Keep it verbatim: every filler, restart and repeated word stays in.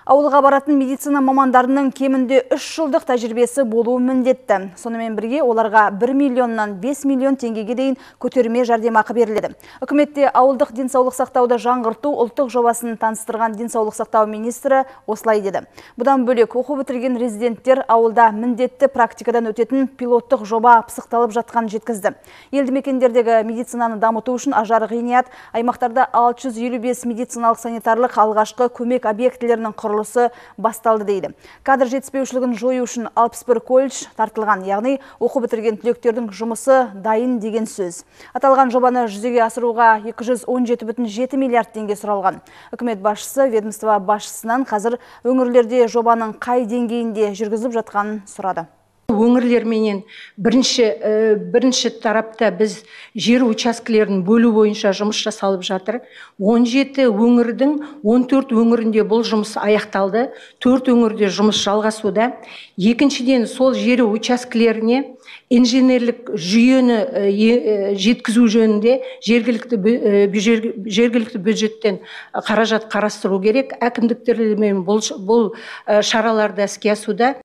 Ауылға баратын медицина мамандарының кемінде үш жылдық тәжірибесі болуы міндетті. Сонымен бірге оларға бір миллионнан бес миллион теңгеге дейін көтерме жәрдемақы беріледі. Үкіметте ауылдық денсаулық сақтауды жаңғырту ұлттық жобасын таныстырған денсаулық сақтау министрі осылай деді. Бұдан бөлек оқу бітірген резиденттер ауылда міндетті практикадан өтетін пилоттық жоба пысықталып жатқанын жеткізді. Елді мекендердегі медицинаны дамыту үшін ажары ғиният аймақтарда алты жүз елу бес медициналық санитарлық алғашқы көмек объектілерінің құрылысы басталды дейді. Кадр жетіспеушілігін жою үшін алпыс бір колледж тартылған, яғни оқу бітірген түлектердің жұмысы дайын деген сөз. Аталған жобаны жүзеге асыруға екі жүз он жеті бүтін жеті миллиард теңге сұралған. Үкімет басшысы ведомство басшысынан қазір өңірлерде жобаның қай деңгейінде жүргізіліп жатқанын сұрады. Өңірлерменен бірінші, бірінші тарапта біз жер учаскелерін бөлу бойынша жұмыс жасалып жатыр. он жеті өңірдің он төрт өңірінде бұл жұмыс аяқталды. төрт өңірде жұмыс жалғасуда. Екіншіден, сол жер учаскелеріне инженерлік жүйені жеткізу жөнінде жергілікті жергілікті бюджеттен қаражат қарастыру керек. Әкімдіктермен бұл шараларды іске асуда.